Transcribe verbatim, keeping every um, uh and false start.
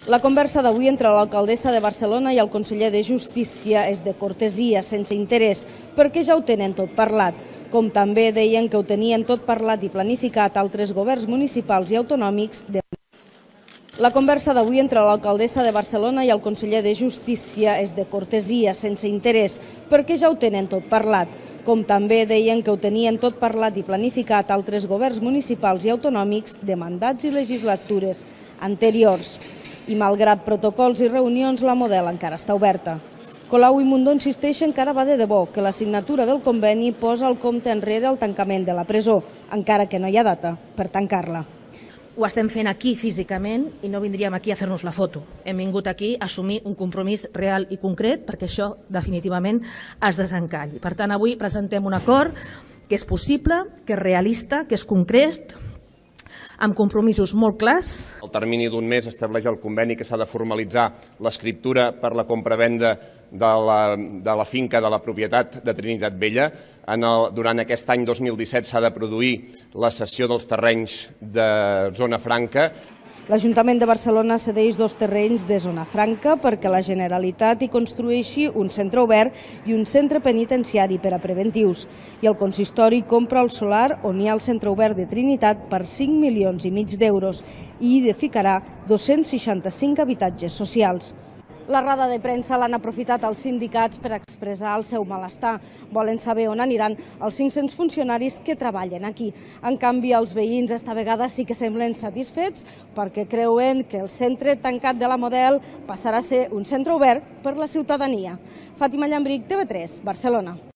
La conversa d'avui entre l'alcaldessa de Barcelona i el conseller de Justícia és de cortesia, sense interès, perquè ja ho tenen tot parlat. Com també deien que ho tenien tot parlat i planificat altres governs municipals i autonòmics de La conversa d'avui entre l'alcaldessa de Barcelona i el conseller de Justícia és de cortesia, sense interès, perquè ja ho tenen tot parlat. Com també deien que ho tenien tot parlat i planificat altres governs municipals i autonòmics de mandats i legislatures anteriors. I malgrat protocols i reunions, la Model encara està oberta. Colau i Mundó insisteixen que ara va de debò, que la signatura del conveni posa el compte enrere al tancament de la presó, encara que no hi ha data per tancar-la. Ho estem fent aquí físicament i no vindríem aquí a fer-nos la foto. Hem vingut aquí a assumir un compromís real i concret perquè això definitivament es desencalli. Per tant, avui presentem un acord que és possible, que és realista, que és concret, amb compromisos molt clars. El termini d'un mes estableix el conveni que s'ha de formalitzar l'escriptura per la compravenda de la, de la finca de la propietat de Trinitat Vella. En el, durant aquest any dos mil disset s'ha de produir la cessió dels terrenys de zona franca. L'Ajuntament de Barcelona cedeix dos terrenys de zona franca perquè la Generalitat hi construeixi un centre obert i un centre penitenciari per a preventius. I el consistori compra el solar on hi ha el centre obert de Trinitat per cinc milions i mig d'euros i hi edificarà dos-cents seixanta-cinc habitatges socials. La roda de premsa l'han aprofitat els sindicats per expressar el seu malestar. Volen saber on aniran els cinc-cents funcionaris que treballen aquí. En canvi, els veïns esta vegada sí que semblen satisfets perquè creuen que el centre tancat de la Model passarà a ser un centre obert per la ciutadania. Fàtima Llambric, T V tres, Barcelona.